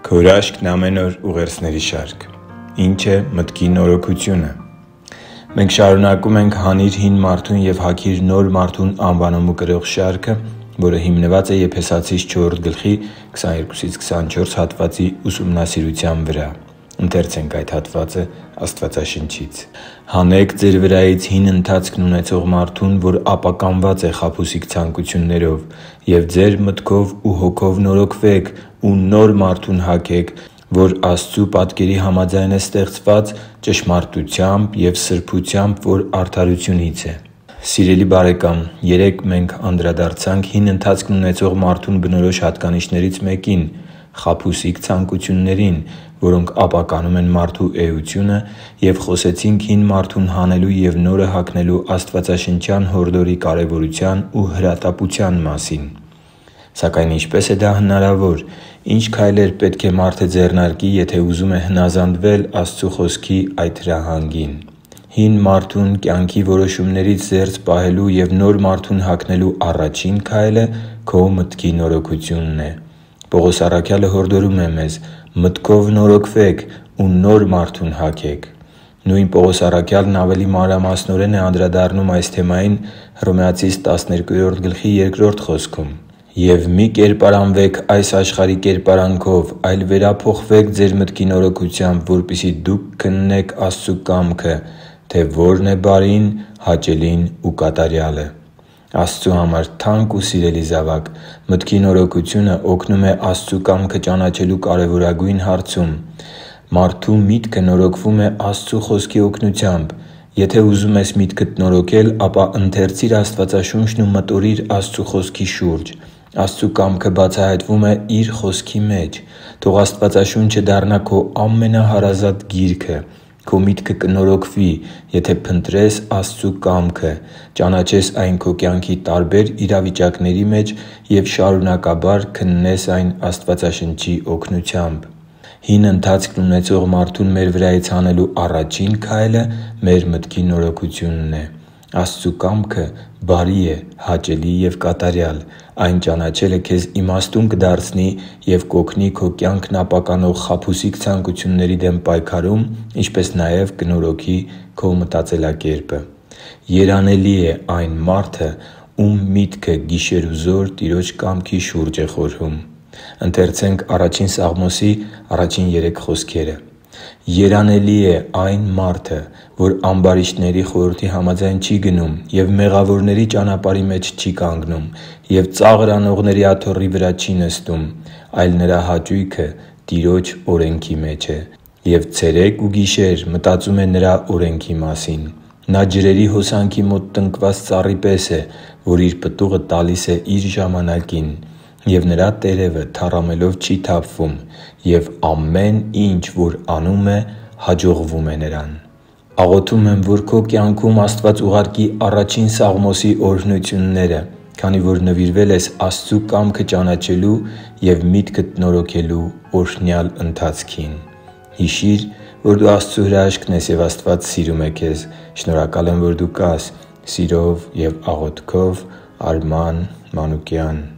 Քո հրաշքն ամեն օր ուղերձների շարք։ Ինչ է մտքի նորոգությունը։ Մենք շարունակում ենք «Հանիր հին մարդուն և հագիր նոր մարդուն» անվանումը կրող շարքը, որը հիմնված է Եփեսացիս 4:22-24 հատվածի ուսումնասիրության վրա։ Ընթերցենք այդ հատվածը Աստվածաշնչից. «Հանեք ձեր վրայից հին ընթացքն ունեցող մարդուն, որ ապականված է խաբուսիկ ցանկություններով, և ձեր մտքով ու հոգով նորոգվեք ու նոր մարդուն հագեք, որ Աստծու պատկերի համաձայն է ստեղծված, ճշմարտությամբ և սրբությամբ, որ արդարությունից է» Սիրելի՛ բարեկամ, երեկ մենք անդրադարձանք հին ընթացքն ունեցող մարդուն բնորոշ հատկանիշներից մեկին՝ խաբուսիկ ցանկություններին, որոնք ապականում են մարդու էությունը, և խոսեցինք հին մարդուն հանելու և նորը հագնելու աստվածաշնչյան հորդորի կարևորության ու հրատապության մասին։ Սակայն ինչպե՞ս է դա հնարավոր։ Ի՞նչ քայլեր պետք է մարդը ձեռնարկի, եթե ուզում է հնազանդվել Աստծու Խոսքի այդ հրահանգին։ Հին մարդուն կյանքի որոշումներից զերծ պահելու և նոր մարդուն հագնելու առաջին քայլը քո մտքի նորոգությունն է։ Պողոս առաքյալը հորդորում է մեզ. «Մտքով նորոգվեք ու նոր մարդուն հագեք»։ Նույն Պողոս առաքյալն ավելի մանրամասնորեն է անդրադառնում այս թեմային Հռոմեացիս 12:2 խոսքում. «Եվ մի կերպարանվեք այս աշխարհի կերպարանքով, այլ վերափոխվեք ձեր մտքի նորոգությամբ, որպեսզի դուք քննեք Աստծու կամքը, թե որն է բարին, հաճելին ու կատարյալը» Աստծու համար թանկ ու սիրելի՛ զավակ, մտքի նորոգությունը օգնում է Աստծու կամքը ճանաչելու կարևորագույն հարցում։ Մարդու միտքը նորոգվում է Աստծու Խոսքի օգնությամբ։ Եթե ուզում ես միտքդ նորոգել, ապա ընթերցի՛ր Աստվածաշունչն ու մտորի՛ր Աստծու Խոսքի շուրջ։ Աստծու կամքը բացահայտվում է Իր Խոսքի մեջ։ Թող Աստվածաշունչը դառնա քո ամենահարազատ գիրքը։ Քո միտքը կնորոգվի, եթե փնտրես Աստծու կամքը, ճանաչես այն քո կյանքի տարբեր իրավիճակների մեջ և շարունակաբար քննես այն Աստվածաշնչի օգնությամբ։ Հին ընթացքն ունեցող մարդուն մեր վրայից հանելու առաջին քայլը մեր մտքի նորոգությունն է։ Աստծու կամքը բարի է, հաճելի և կատարյալ։ Այն ճանաչելը քեզ իմաստուն կդարձնի և կօգնի քո կյանքն ապականող խաբուսիկ ցանկությունների դեմ պայքարում, ինչպես նաև կնորոգի քո մտածելակերպը։ Երանելի է այն մարդը, ում միտքը գիշերուզօր Տիրոջ կամքի շուրջ է խորհում։ «Երանելի է այն մարդը, որ ամբարիշտների խորհրդի համաձայն չի գնում և մեղավորների ճանապարհի մեջ չի կանգնում և ծաղր անողների աթոռի վրա չի նստում, այլ նրա հաճույքը Տիրոջ օրենքի մեջ է, և ցերեկ ու գիշեր մտածում է նրա օրենքի մասին։ Նա ջրերի հոսանքի մոտ տնկված ծառի պես է, որ իր պտուղը տալիս է իր ժամանակին, և նրա տերևը թառամելով չի թափվում, և ամեն ինչ, որ անում է, հաջողվում է նրան»։ Աղոթում եմ, որ քո կյանքում Աստված ուղարկի առաջին Սաղմոսի օրհնությունները, քանի որ նվիրվել ես Աստծու կամքը ճանաչելու և միտքդ նորոգելու օրհնյալ ընթացքին։ Հիշի՛ր, որ դու Աստծո հրաշքն ես, և Աստված սիրում է քեզ։ Շնորհակալ եմ, որ դու կա՛ս։ Սիրով և աղոթքով, Արման Մանուկյան։